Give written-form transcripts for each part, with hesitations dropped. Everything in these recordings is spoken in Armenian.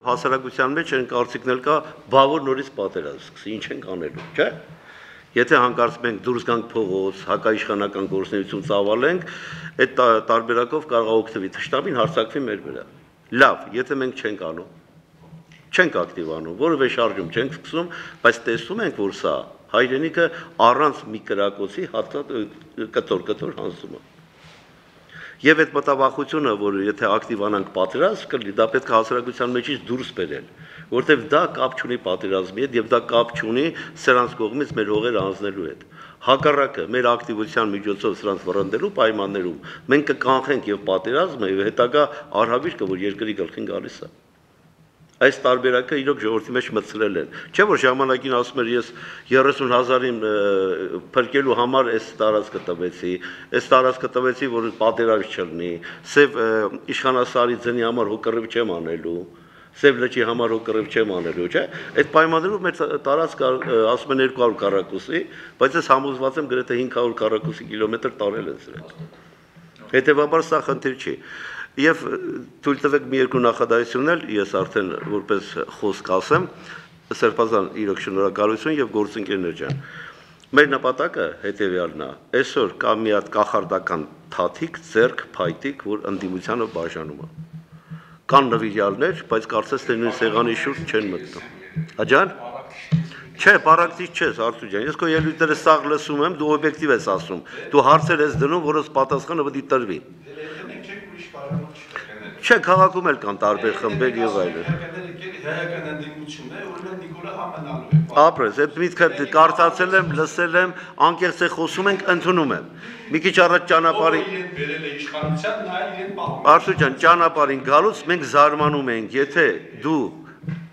Հասարակության մեջ են կարծիքնել կա բավոր նորից պատերազմ սկսի, ինչ ենք անելու, չէ՞։ Եթե հանկարծ մենք դուրս գանք փողոց, հակաիշխանական գործունեություն ծավալենք, այդ տարբերակով կարող է օգտվի թշնամին հարձակվի մեր վրա։ Լավ, եթե մենք չենք անում, չենք ակտիվ անում, որևէ շարժում չենք սկսում, բայց տեսնում ենք, որ սա հայրենիքը առանց մի կրակոցի կտոր հանձնում է։ Եվ այդ մտավախությունը, որ եթե ակտիվանանք պատերազմ կլինի, դա պետք է հասարակության մեջից դուրս բերել, որտեղ դա կապ չունի պատերազմի հետ եւ դա կապ չունի սրանց կողմից մեր հողերը անձնելու հետ։ Հակառակը, մեր ակտիվության միջոցով սրանց վռնդելու պայմաններում մենք կկանխենք եւ պատերազմը եւ հետագա արհավիրքը, որ երկրի գլխին գալիս է։ Այս տարբերակը իրոք ժողովրդի մեջ մտցրել են։ Չէ՞ որ ժամանակին ասում էր ես 30,000-ին փրկելու համար այս տարածքը տվեցի, որ պատերազմ չլինի, սև իշխանասարի ձնի համար հոգռիվ չեմ անելու, սև լճի համար հոգռիվ չեմ անելու, չէ՞։ Այդ պայմաններում մեր տարածքը ասում են 200 քառակուսի, բայց ես համոզված եմ գրեթե 500 քառակուսի կիլոմետր տարել են սրանք։ Հետևաբար սա խնդիր չի։ Եվ թույլ տվեք մի երկու նախադասություն էլ ես արդեն որպես խոսք ասեմ, Սերբազան իրոք շնորհակալություն եւ գործընկերներ ջան։ Մեր նպատակը հետեւյալն է, այսօր կա մի հատ կախարդական թաթիկ, ձեռք, փայտիկ, որ ընդդիմությանը բաժանում է։ Կան նվիրյալներ, բայց կարծես թե նույն սեղանի շուրջ չեն մտնում։ Աջան։ Չէ, պարակտիչ չես, Արթուր ջան, ես քո ելույթները սաղ լսում եմ, դու օբյեկտիվ ես ասում։ Դու հարցեր ես դնում, որոնց պատասխանը պետք է տրվի։ Չէ, քաղաքում էլ կան տարբեր խմբեր եւ այլն։ Հայական ընդդիմությունն է, օրինակ Նիկոլա Համանալու է։ Ապրես, այդ միտքը կարդացել եմ, լսել եմ, անկեղծ է խոսում ենք, ընդունում եմ։ Մի քիչ առաջ ճանապարհին բերել է իշխանության, նա իրեն պահում։ Արթուր ջան, ճանապարհին գալուց մենք զարմանում ենք, եթե դու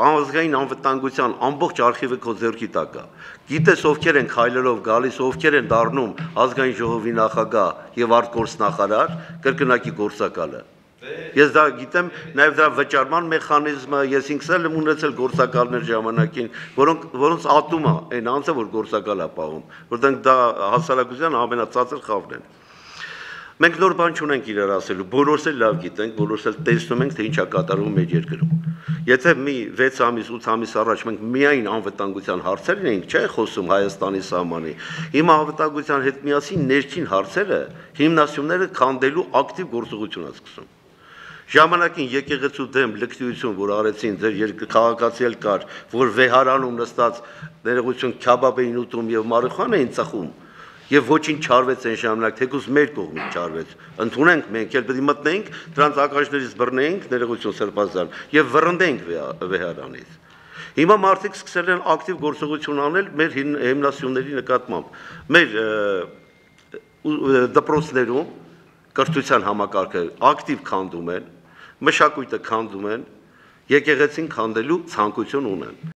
ազգային անվտանգության ամբողջ արխիվը քո ձեռքի տակ է։ Գիտես ովքեր են քայլերով գալիս, ովքեր են դառնում ազգային ժողովի նախագահ եւ արտգործնախարար, կրկնակի գործակալը։ Ես դա գիտեմ, նաև դրա վճարման մեխանիզմը, ես ինքս էլ եմ ունեցել գործակալներ ժամանակին, որոնց ատում է այն անձը, որ գործակալ է պահում, որտեղ դա հասարակության ամենածածր խավն են։ Մենք նոր բան չունենք իրար ասելու, բոլորս էլ լավ գիտենք, բոլորս էլ տեսնում ենք, թե ինչ է կատարվում մեր երկրում։ Եթե մի 6 ամիս, 8 ամիս առաջ մենք միայն անվտանգության հարցերն էինք, չէ՞ խոսում Հայաստանի սահմանի։ Հիմա անվտանգության հետ միասին ներքին հարցերը, հիմնասյունները քանդելու ակտիվ գործողություն է սկսում։ Ժամանակին եկեղեցու դեմ լկտիություն, որ արեցին ձեր քաղաքացի էլ կար, որ վեհարանում նստած ներողություն քյաբաբ էին ուտում եւ մարիխուանա էին ծխում, եւ ոչինչ չարվեց այն ժամանակ, թեկուզ մեր կողմից չարվեց։ Ընդունենք մենք էլ պետք է մտնենք, դրանց ականջներից բռնենք, ներողություն Սերբազան, եւ վռնդենք վեհարանից։ Հիմա մարդիկ սկսել են ակտիվ գործողություն անել մեր հիմնասյունների նկատմամբ։ Մեր դպրոցներում կրթության համակարգը ակտիվ քանդում են, մշակույթը քանդում են, եկեղեցին քանդելու ցանկություն ունեն։